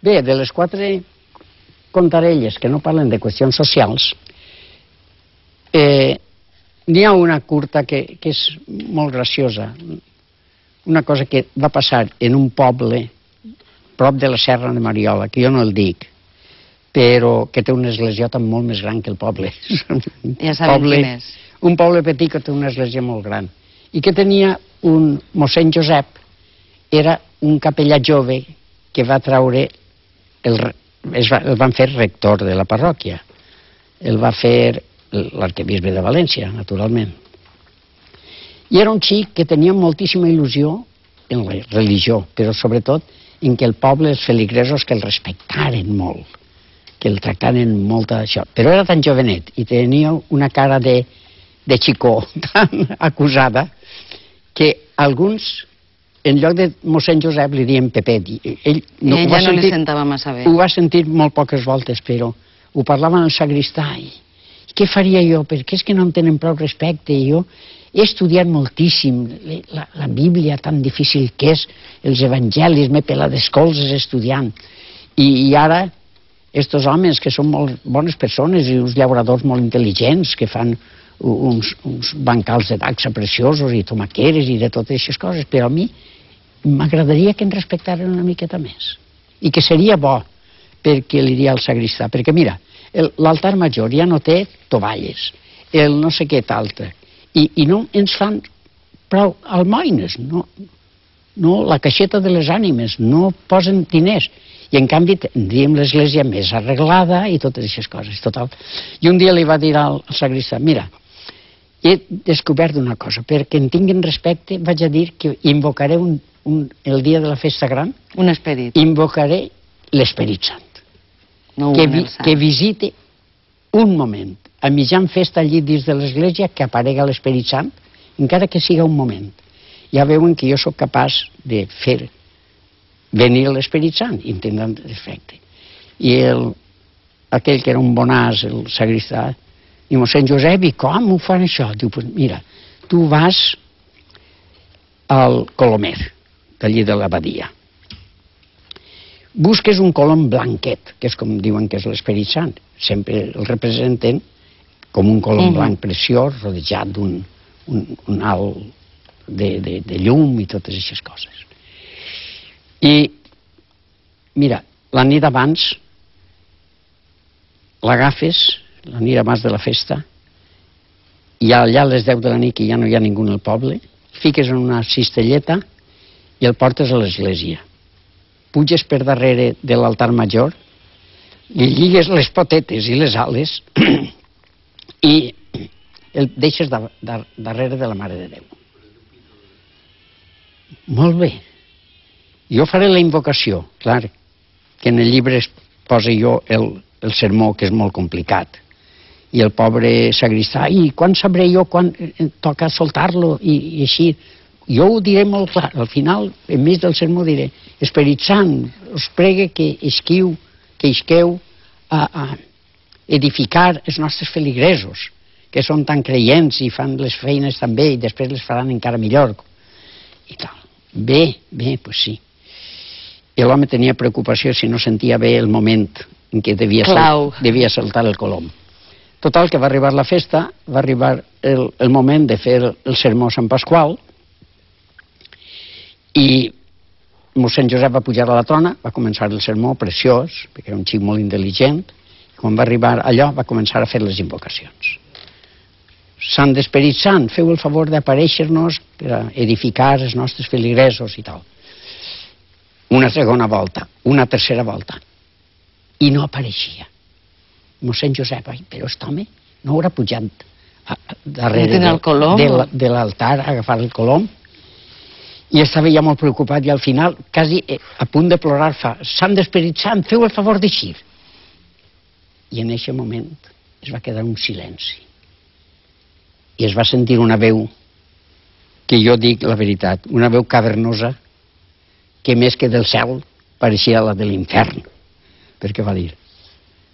Bé, de les 4 contarelles que no parlen de qüestions socials, n'hi ha una curta que és molt graciosa. Una cosa que va passar en un poble prop de la Serra de Mariola, que jo no el dic, però que té una esglésiota molt més gran que el poble. Ja sabem quin és. Un poble petit que té una església molt gran. I que tenia un mossèn Josep, era un capellà jove que va traure, el van fer rector de la parròquia. El va fer l'arquebisbe de València, naturalment. I era un xic que tenia moltíssima il·lusió en la religió, però sobretot en que el poble, els feligresos, que el respectaren molt, que el tractaren molt d'això. Però era tan jovenet i tenia una cara de xicó tan acusada que alguns, en lloc de mossèn Josep, li diuen Pepet. Ell ja no li sentava massa bé. Ho va sentir molt poques voltes, però ho parlava al sagristà. I què faria jo? Perquè és que no em tenen prou respecte. Jo he estudiat moltíssim la Bíblia, tan difícil que és, els evangelis, m'he pelat les colzes estudiant. I ara, estos homes, que són molt bones persones i uns llauradors molt intel·ligents, que fan uns bancals de taxa preciosos i tomaqueres i de totes aquestes coses, però a mi m'agradaria que em respectaren una miqueta més. I que seria bo, perquè li diria al sagristà, perquè mira, l'altar major ja no té tovalles, el no sé què t'altre, i no ens fan prou almoines, no la caixeta de les ànimes, no posen diners, i en canvi tindríem l'església més arreglada i totes aquestes coses, total. I un dia li va dir al sagristà, mira, he descobert una cosa, perquè en tinguin respecte vaig a dir que invocaré el dia de la festa gran, un esperit. Invocaré l'Esperit Sant. No que visite un moment, a mitjan festa allí dins de l'església, que aparega l'Esperit Sant, encara que siga un moment. Ja veuen que jo sóc capaç de fer venir l'Esperit Sant, i em tindran respecte. I aquell que era un bonàs, el sagristà, i mossèn Josep, i com ho fan això? Diu, pues mira, tu vas al Colomer, d'allí de l'abadia. Busques un colom blanquet, que és com diuen que és l'Esperit Sant. Sempre el representen com un colom blanc preciós, rodejat d'un alt de llum i totes aquestes coses. I, mira, la nit abans l'agafes, la nit abans de la festa, i allà a les 10 de la nit, que ja no hi ha ningú al poble, fiques en una cistelleta i el portes a l'església. Puges per darrere de l'altar major, li lligues les potetes i les ales i el deixes darrere de la Mare de Déu. Molt bé. Jo faré la invocació, clar, que en el llibre posa jo el sermó, que és molt complicat, i el pobre sagristà, i quan sabré jo quan toca soltar-lo, i així. Jo ho diré molt clar, al final, enmig del sermó diré, Esperit Sant, us pregue que isqueu a edificar els nostres feligresos, que són tan creients i fan les feines tan bé i després les faran encara millor. I tal. Bé, doncs sí. I l'home tenia preocupació si no sentia bé el moment en què devia saltar el colom. Total, que va arribar la festa, va arribar el moment de fer el sermó Sant Pasqual, i mossèn Josep va pujar a la trona, va començar el sermó preciós, perquè era un xic molt intel·ligent, i quan va arribar allò va començar a fer les invocacions. Sant d'Esperit Sant, feu el favor d'aparèixer-nos per a edificar els nostres feligresos i tal. Una segona volta, una tercera volta, i no apareixia. Mossèn Josep, però aquest home no haurà pujat darrere de l'altar a agafar el colom? I estava ja molt preocupat i al final, quasi a punt de plorar, fa Sant d'Esperit Sant, feu el favor d'eixir. I en aquest moment es va quedar un silenci. I es va sentir una veu, que jo dic la veritat, una veu cavernosa, que més que del cel pareixia la de l'infern. Perquè va dir,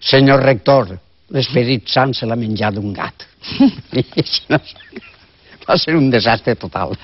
senyor rector, l'Esperit Sant se l'ha menjat un gat. Va ser un desastre total.